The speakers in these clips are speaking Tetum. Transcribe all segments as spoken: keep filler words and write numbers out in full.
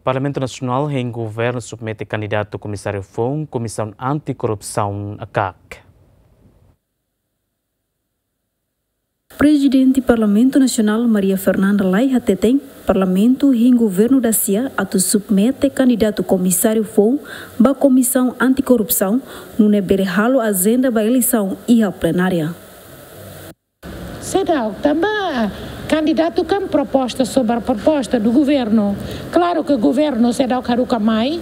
Parlamentu Nasionál hein governu submete kandidatu komisáriu foun Komisaun Anti-Korrupsaun, KAK. Prezidente Parlamentu Nasionál Maria Fernanda Lay hateten, Parlamentu hein governu dasia atu submete kandidatu komisáriu foun ba Komisaun Anti-Korrupsaun, nune'e bele halo ajenda ba eleisaun iha plenária. Seidauk, tanba kandidatu kan proposta sobre proposta do governo. Klaru ke governu seidauk haruka mai.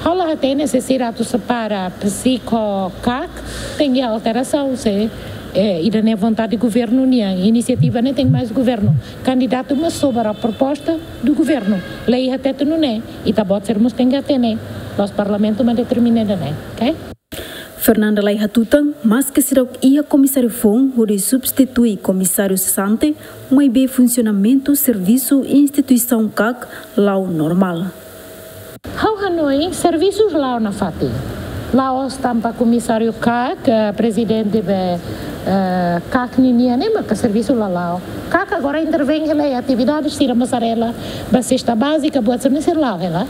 Ha'u la hatene se sira atu separa psiko KAK, tenke alterasaun se, eh, ida-ne'e vontade governu nian, inisiativa ne'e tenke mai husi governu. Kandidatu mak sobre proposta do governo. Lei hatete nune'e, ita-boot sira mós tenke hatene. La'ós Parlamentu mak determina ida-ne'e, ok? Fernanda Lay hatutan, maske seidauk iha komisáriu foun hodi substitui komisáriu sesante, maibé funsionamentu servisu instituisaun KAK la'o normál. Ha'u hanoin servisu la'o nafatin. La'ós tanba komisáriu KAK, eh, prezidente be, eh, KAK ninian ne'e maka servisu la la'o. KAK agora intervein hela iha atividade sira, mozzarella, ba sesta bázika, buat sira-ne'e sira la'o hela.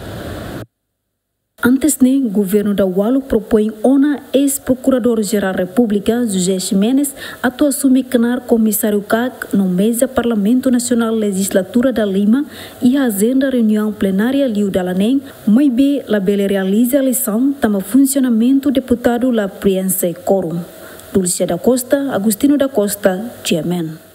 Antes ne'e, governu Dawaluk propoin ona eis-Prokuradór-Jerál Repúblika, José Ximenes, atu asume knaar komisáriu KAK no meza Parlamentu Nasionál lejizlatura dalima, iha ajenda reuniaun plenária liu dala neen, maibé labele realiza eleisaun tanba funsionamentu deputadu la prienxe kórum. Dulcia da Costa, Agostinho da Costa, GMN.